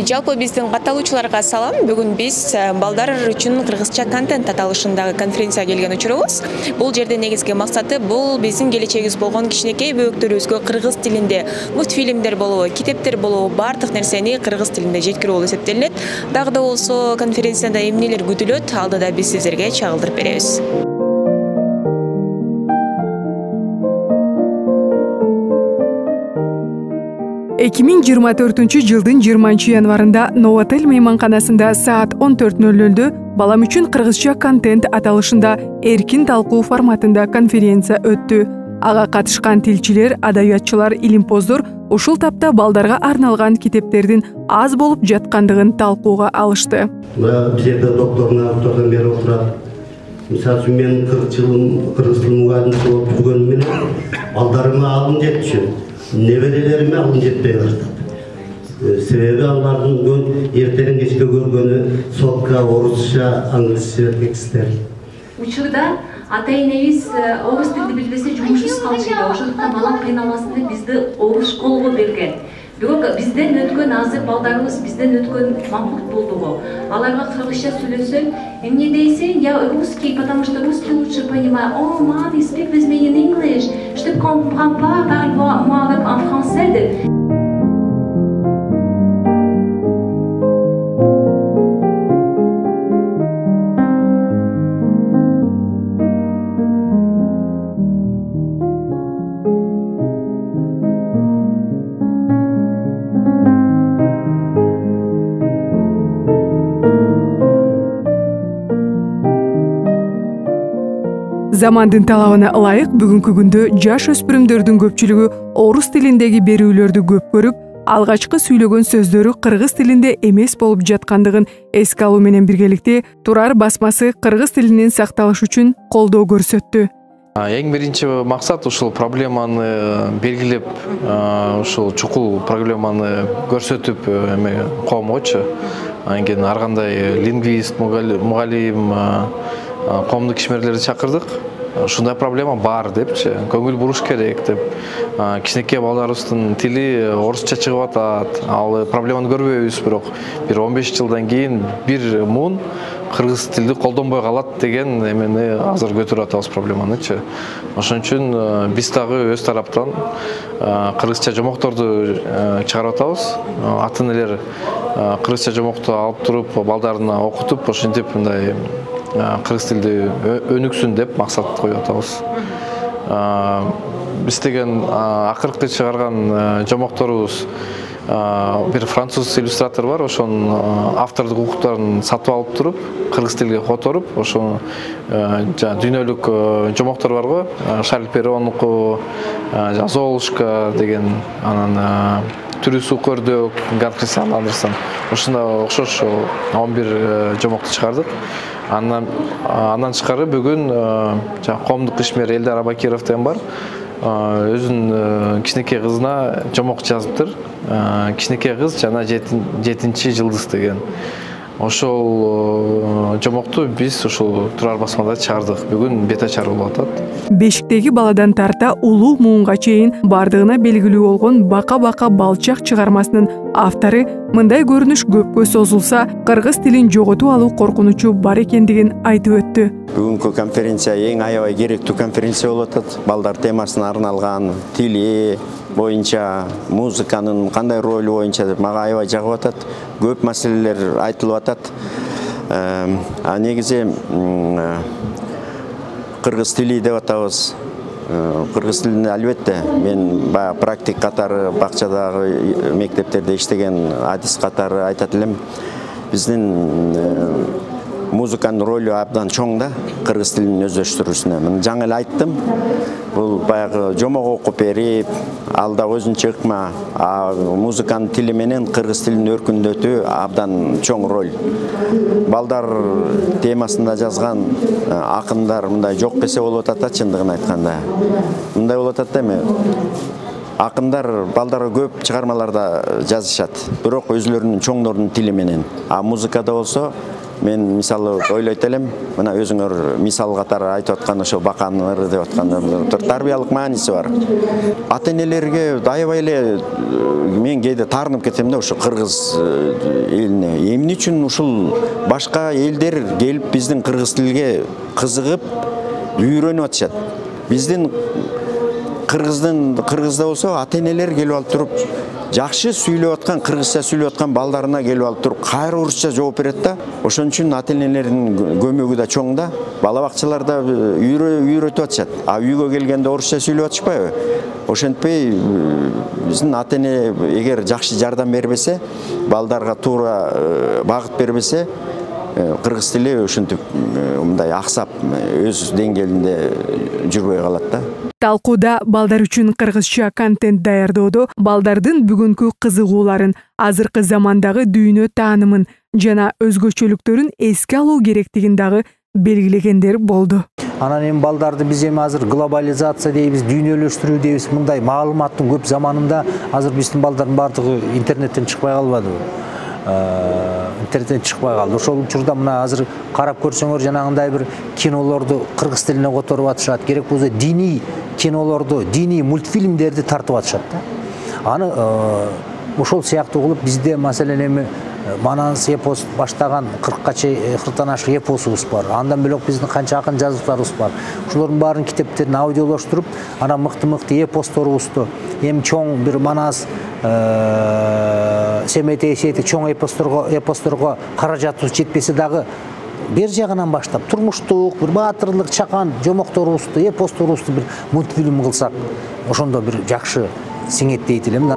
Жалпы биздин катталуучуларга салам. Бүгүн биз балдар үчүн кыргызча контент аталышындагы конференцияга келген учурубуз. Бул жерде негизги максаты бул биздин келечегибиз болгон кичинекей бөбөктөрүбүзгө кыргыз тилинде мультфильмдер болобу, китептер болобу, бардык нерсени кыргыз тилинде жеткирүү болуп эсептелинет. Дагы да болсо конференцияда эмнелер күтүлөт, алдыда биз сиздерге чагылдырып беребиз. 2024 жылдын 20 январында Новотель мейманканасында саат 14:00 балам үчүн кыргызча контент аталышында эркин талкуу форматында конференция өттү. Ага катышкан тилчилер, адабиятчылар, илимпоздор ушул тапта балдарга арналган китептердин аз болуп жаткандыгын талкууга алышты. Бул жерде доктордон бери отурат. Мисалы үчүн мен 40 жыл кыргыз тил мугалимчи болуп жүргөнүм менен балдарыма алым жетчү. Неберелериме алым жетпей калды. Себеби алардын эртең кечке көргөнү сотка, орусча, англисче текстер. Учурда ата-энебиз орус тилди билбесе жумушсуз калышат. Ошондуктан балам кыйналбасын деп бизди орус школого берген. Бирок бизден өткөн азыр балдарыбыз бизден өткөн мампут болдуго. Аларга кыргызча сүйлөсөң, эмне дейсиң? Я русский, потому что русский лучше понимаю. О, mommy, speak with me in English. Je te comprends pas, parle-moi avec en français. Замандын талабына ылайык бүгүнкү күндө жаш өспүрүмдөрдүн көпчүлүгү орус тилиндеги берүүлөрдү көп көрүп, алгачкы сүйлөгөн сөздөрү кыргыз тилинде эмес болуп жаткандыгын эске алуу менен биргеликте Турар басмасы кыргыз тилинин сакталышы үчүн колдоо көрсөттү. Эң биринчи максат ушул проблеманы белгилеп, ушул чукул проблеманы көрсөтүп коомгочу. Анткени ар кандай лингвист, мугалим, коомдук ишмерлерди чакырдык. Ушундай проблема бар депчи, көңүл буруш керек деп. Кичинекей балдарыбыздын тили орусча чыгып атат. Ал проблеманы көрбөйбүз, бирок бир 15 жылдан кийин бир муун кыргыз тилди колдонбой калат деген эмени азыр көтөрүп атабыз проблеманычы. Ошон үчүн биз дагы өз тараптан кыргызча жомокторду чыгарып атабыз. Ата-энелер кыргызча жомокту алып туруп, балдарына окутуп, ошентип мындай кыргыз тилди өнүксүн деп максат коюп атабыз. Биз деген акыркы чыгарган жомокторубуз бир француз иллюстратор бар, ошонун автордук укуктарын сатып алып туруп, кыргыз тилге которуп, ошону дүйнөлүк жомоктор барго, Шарль Перронуку, Золушка деген, анан Түрүсү көрдүк, Ганс Андерсен. Ушундай окшош 11 жомокту чыгардык. Андан тышкары бүгүн коомдук ишмер Элдар Абакиров деген бар. Өзүнүн кичинекей кызына жомок жазыптыр. Кичинекей кыз жана 7-чи жылдыз деген. Ошол жомокту биз ушул Турар басмада чыгардык. Бүгүн бет ачар болуп атат. Бешиктеги баладан тарта улуу муунга чейин бардыгына белгилүү болгон Бака-бака балчак чыгармасынын автору мындай көрүнүш көпкө созулса, кыргыз тилин жоготуп алуу коркунучу бар экендигин айтып өттү. Бүгүнкү конференция эң аябай керектүү конференция болуп атат. Балдар темасына арналган, тили боюнча, музыканын кандай ролу боюнча деп мага аябай жагып атат. Көп маселелер айтылып атат. Негизи кыргыз тили деп атабыз. Кыргыз тилинде албетте мен баягы практик катары бакчадагы мектептерде иштеген адис катары айтат элем. Биздин музыканын ролу абдан чоң да кыргыз тилинин өздөштүрүүсүнө. Мен жаңы эле айттым. Бул баягы жомок окуп берип, ал да өзүнчө ыкма, музыканын тили менен кыргыз тилин өркүндөтүү абдан чоң роль. Балдар темасында жазган акындар мындай жок десе болуп атат, чындыгын айтканда. Мындай болуп атат эми. Акындар балдарга көп чыгармаларда жазышат, бирок өзлөрүнүн чоңдорунун тили менен. Музыкада болсо мен мисалы ойлойт элем, мына өзүңөр мисал катары айтып аткан ошо бакан ыры деп аткан тарбиялык мааниси бар. Ата-энелерге аябай эле мен кээде таарынып кетем да, ошо кыргыз элине. Эмне үчүн ушул башка элдер келип биздин кыргыз тилге кызыгып үйрөнүп атышат? Биздин кыргызда болсо ата-энелер келип алып туруп жакшы сүйлөп аткан, кыргызча сүйлөп аткан балдарына келип алып туруп кайра орусча жооп берет да. Ошон үчүн ата-энелердин көмөгү да чоң да. Бала бакчаларда үйрөтүп атышат. А үйгө келгенде орусча сүйлөп атышпайбы? Ошентпей биздин ата-эне эгер жакшы жардам бербесе, балдарга туура багыт бербесе, кыргыз тили ушинтип мындай аксап өз деңгээлинде жүрбөй калат да. Талкууда балдар үчүн кыргызча контент даярдоодо балдардын бүгүнкү кызыгууларын, азыркы замандагы дүйнө таанымын жана өзгөчөлүктөрүн эске алуу керектигин дагы белгилегендер болду. Анан эми балдарды биз эми азыр глобализация дейбиз, дүйнөлөштүрүү дейбиз, мындай маалыматтын көп заманында азыр биздин балдардын баардыгы интернеттен чыкпай калбадыбы? Интернеттен чыкпай калды. Ошол учурда мына азыр карап көрсөңөр жанагындай бир кинолорду кыргыз тилине которуп атышат. Керек болсо диний кинолорду, диний мультфильмдерди тартып атышат да. Аны ошол сыяктуу кылып бизде маселен эми Манас эпос баштаган 40-тан ашык эпосубуз бар. Андан бөлөк биздин канча акын жазуучуларыбыз бар. Ошолордун баарын китептерин аудиолоштуруп, анан мыкты-мыкты эпосторубузду, эми чоң бир Манас Семетей сети чоң эпосторго каражатыбыз жетпесе дагы бер жагынан баштап турмуштук, бир баатырлык, чакан жомокторубузду, эпосторубузду бир мультфильм кылсак, ошондо бир жакшы сиңет дейт элем.